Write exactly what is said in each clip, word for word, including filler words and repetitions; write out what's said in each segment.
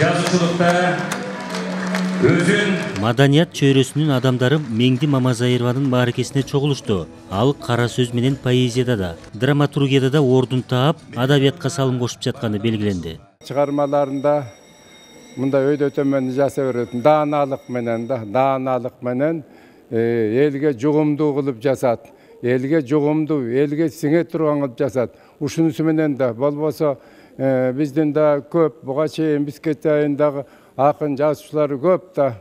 жазуучулукта өзүн маданият чөйрөсүнүн адамдары Меңди Мамазайырованын мааракесине чогулушту. Ал кара сөз менен поэзияда да, драматургияда да ордун таап, адабиятка салым кошуп жатканы белгиленди. Чыгармаларында мындай өйдө төмөн жаса берет. Дааналык менен да, дааналык менен элге жугумдуу кылып жасат. Элге жугумдуу, элге сиңе турган кылып жасат. Ушунусу менен да болбосо биздин да көп буга чейин Бишкек айындагы акын жазуучулар көп да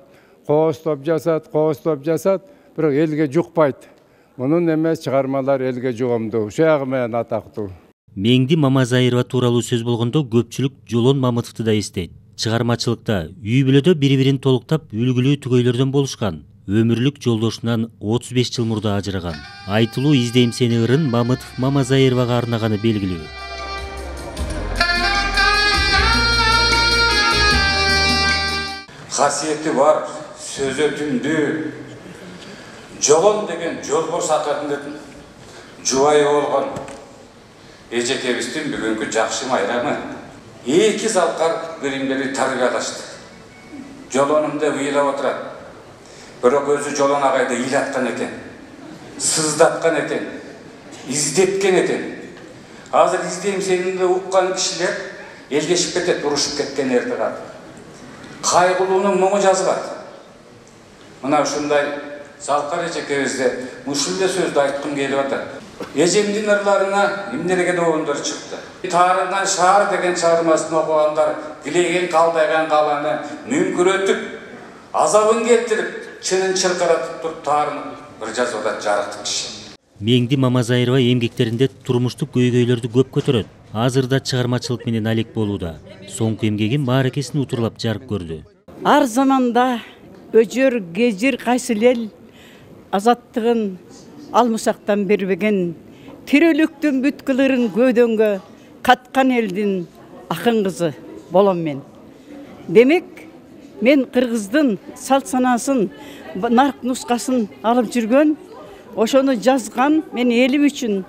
коостоп жасат, коостоп жасат, бирок элге жукпайт. Мунун эмес чыгармалар элге жугумдуу, ушуягы менен атактуу. Меңди Мамазайырова тууралуу сөз болгондо көпчүлүк Жолон Мамытовду да эстейт. Чыгармачылыкта үй бүлөдө бири-бирин толуктап үлгүлүү түгөйлөрдөн болушкан. Өмүрлүк жолдошунан отуз беш жыл мурда ажыраган. Айтылуу «Издейм сени» ырын Мамытов Мамазайыровага арнаганы белгилүү. Касиети бар, сөзү түндүү. Жолон деген жолборс акырындын жубайы болгон эжекебиздин бүгүнкү жакшы майрамы. Эки залкар биримдери тарбиялашты. Жолонумда ыйлап отурат. Бирок өзү Жолон агайды ыйлаткан экен, сыздаткан экен, издеткен экен. Азыр «Издейм сени» уккан кишилер элдешип кетет, урушуп кеткен эрти калды. Кайгылуунун муңу жазылат. Мына ушундай залкар эжекебизде ушул эле сөздү айткым келип атат. Эжемдин ырларына эмнелеген оондар чыкты. Таарынган шаар деген чыгармасын окугандар тилеген калдайган каланы мүңкүрөтүп, азабын келтирип, чынын чыркыратып туруп таарынып бир жазып атат жарыктык киши. Меңди Мамазайырова эмгектеринде турмуштук көйгөйлөрдү көп көтөрөт. Азырда чыгармачылык менен алек болууда. Соңку эмгеги мааракесин утурлап жарык көрдү. Ар заманда өжөр, гежир кайсы эл азаттыгын алмусактан бербеген, тирөлүктүн бүткүлөрүн көөдөнгө каткан элдин акын кызы болом мен. Демек, мен кыргыздын салт санасын, нарк нускасын алып жүргөн, ошону жазган, мен элим үчүн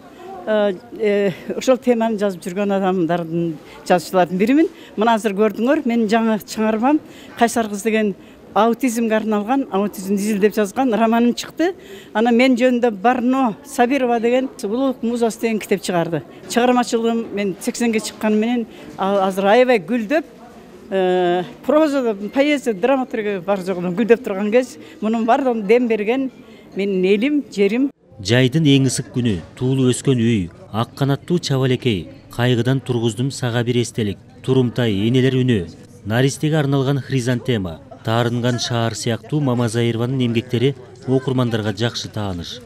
ошол теманы жазып жүргөн адамдардын, жазуучулардын биримин. Мына азыр көрдүңөр, мен жаңы чыгармам Кайсар кыз деген аутизмге арналган, аутизмди изилдеп жазган романым чыкты. Ана мен жөнүндө Барно Сабирова деген Улуулук музасы деген китеп чыгарды. Чыгармачылыгым мен сексенге чыкканы менен азыр аябай гүлдөп, прозада, поэзия, драматургия бар жогунан гүлдөп турган кез, мунун бардыгына дем берген менин элим, жерим. Жайдын эң ысык күнү, туулу өскөн үй, ак канаттуу чабалекей, кайгыдан тургуздум сага бир эстелик, турумтай, энелер үнү, Наристеге арналган хризантема, таарынган шаар сыяктуу Мамазайырованын эмгектери окурмандарга жакшы тааныш.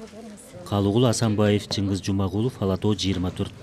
Калыгул Асанбаев, Чыңгыз Жумагулов, Ала тоо жыйырма төрт.